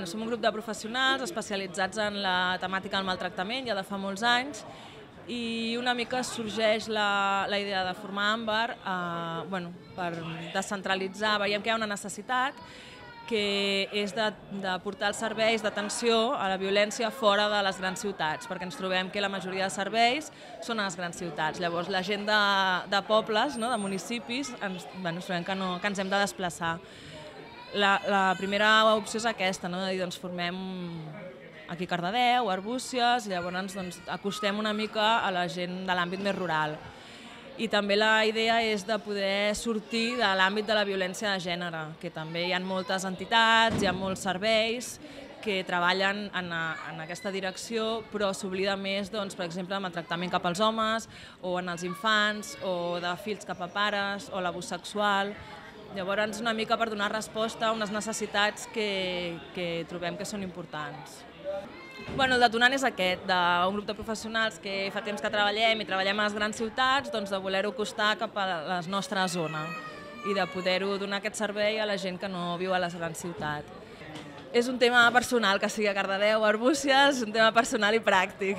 Som un grup de professionals especialitzats en la temàtica del maltractament ja de fa molts anys i una mica sorgeix la idea de formar Àmbar per descentralitzar. Veiem que hi ha una necessitat que és de portar els serveis d'atenció a la violència fora de les grans ciutats, perquè ens trobem que la majoria de serveis són a les grans ciutats. Llavors la gent de pobles, de municipis, ens trobem que ens hem de desplaçar. La primera opció és aquesta, de dir, formem aquí a Cardedeu, a Arbúcies, i llavors acostem una mica a la gent de l'àmbit més rural. I també la idea és de poder sortir de l'àmbit de la violència de gènere, que també hi ha moltes entitats, hi ha molts serveis que treballen en aquesta direcció, però s'oblida més, per exemple, del maltractament cap als homes, o en els infants, o de fills cap a pares, o l'abús sexual. Llavors, una mica per donar resposta a unes necessitats que trobem que són importants. El detonant és aquest, d'un grup de professionals que fa temps que treballem i treballem a les grans ciutats, de voler-ho acostar cap a la nostra zona i de poder-ho donar aquest servei a la gent que no viu a les grans ciutats. És un tema personal, que sigui a Cardedeu o a Arbúcies, és un tema personal i pràctic.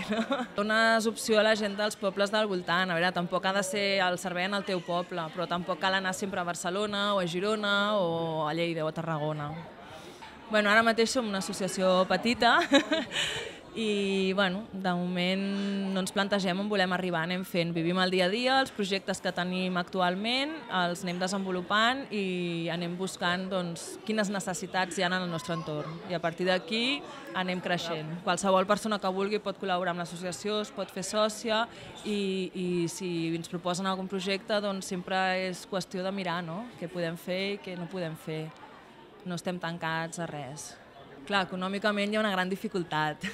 Dones opció a la gent dels pobles del voltant. A veure, tampoc ha de ser el servei en el teu poble, però tampoc cal anar sempre a Barcelona o a Girona o a Lleida o a Tarragona. Ara mateix som una associació petita i de moment no ens plantegem on volem arribar, anem fent, vivim el dia a dia, els projectes que tenim actualment els anem desenvolupant i anem buscant quines necessitats hi ha en el nostre entorn i a partir d'aquí anem creixent. Qualsevol persona que vulgui pot col·laborar amb l'associació, es pot fer sòcia i si ens proposen algun projecte sempre és qüestió de mirar què podem fer i què no podem fer. No estem tancats a res. Clar, econòmicament hi ha una gran dificultat.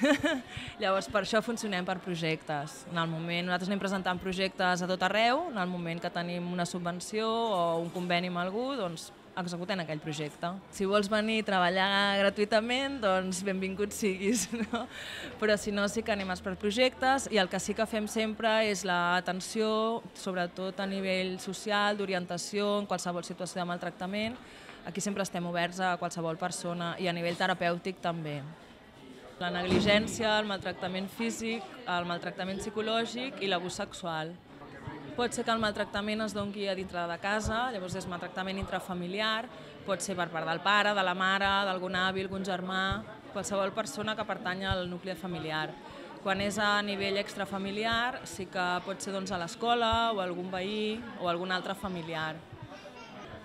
Llavors, per això funcionem per projectes. En el moment, nosaltres anem presentant projectes a tot arreu, en el moment que tenim una subvenció o un conveni amb algú, executem aquell projecte. Si vols venir a treballar gratuïtament, benvingut siguis. Però si no, sí que anem per projectes i el que sí que fem sempre és l'atenció, sobretot a nivell social, d'orientació, en qualsevol situació de maltractament. Aquí sempre estem oberts a qualsevol persona i a nivell terapèutic també. La negligència, el maltractament físic, el maltractament psicològic i l'abús sexual. Pot ser que el maltractament es doni a dintre de casa, llavors és maltractament intrafamiliar, pot ser per part del pare, de la mare, d'algun avi, algun germà, qualsevol persona que pertany al nucli familiar. Quan és a nivell extrafamiliar sí que pot ser a l'escola o algun veí o algun altre familiar.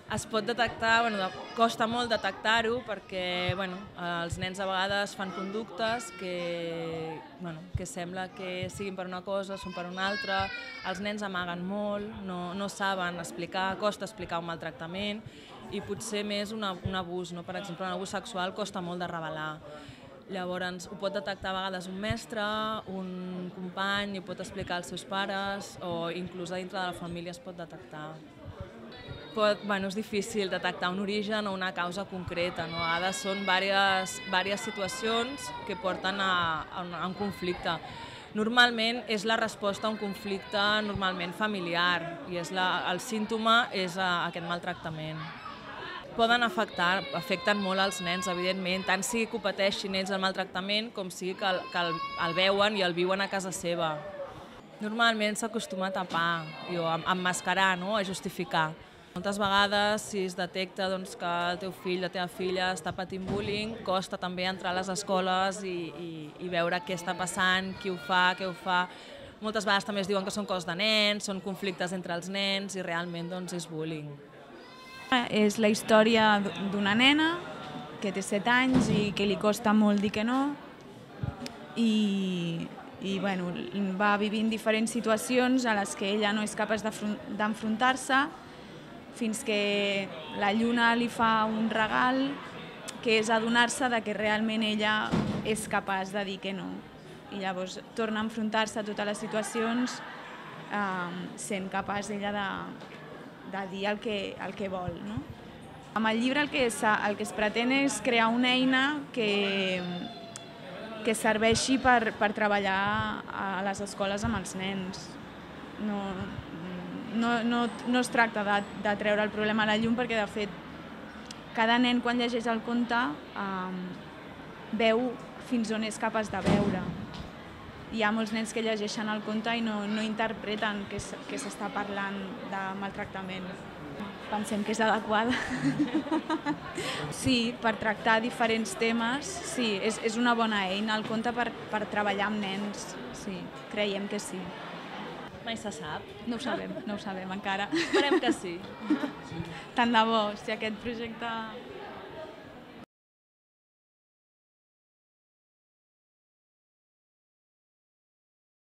Es pot detectar, costa molt detectar-ho perquè els nens a vegades fan conductes que sembla que siguin per una cosa, són per una altra, els nens amaguen molt, no saben explicar, costa explicar un maltractament i potser més un abús, per exemple, un abús sexual costa molt de revelar. Llavors ho pot detectar a vegades un mestre, un company, ho pot explicar als seus pares o inclús a dintre de la família es pot detectar. És difícil detectar un origen o una causa concreta. A vegades són diverses situacions que porten a un conflicte. Normalment és la resposta a un conflicte normalment familiar i el símptoma és aquest maltractament. Afecten molt els nens, evidentment, tant sigui que ho pateixin ells el maltractament com sigui que el veuen i el viuen a casa seva. Normalment s'acostuma a tapar, a emmascarar, a justificar. Moltes vegades, si es detecta que el teu fill, la teva filla està patint bullying, costa també entrar a les escoles i veure què està passant, qui ho fa, què ho fa. Moltes vegades també es diuen que són coses de nens, són conflictes entre els nens i realment és bullying. És la història d'una nena que té 7 anys i que li costa molt dir que no i va vivint diferents situacions a les que ella no és capaç d'enfrontar-se fins que la lluna li fa un regal que és adonar-se que realment ella és capaç de dir que no. I llavors torna a enfrontar-se a totes les situacions sent capaç ella de dir el que vol. Amb el llibre el que es pretén és crear una eina que serveixi per treballar a les escoles amb els nens. No es tracta de treure el problema a la llum perquè, de fet, cada nen quan llegeix el conte veu fins on és capaç de veure. Hi ha molts nens que llegeixen el conte i no interpreten que s'està parlant de maltractament. Pensem que és adequada. Sí, per tractar diferents temes, sí, és una bona eina el conte per treballar amb nens, sí, creiem que sí. Mai se sap. No ho sabem encara. Esperem que sí. Tant de bo, si aquest projecte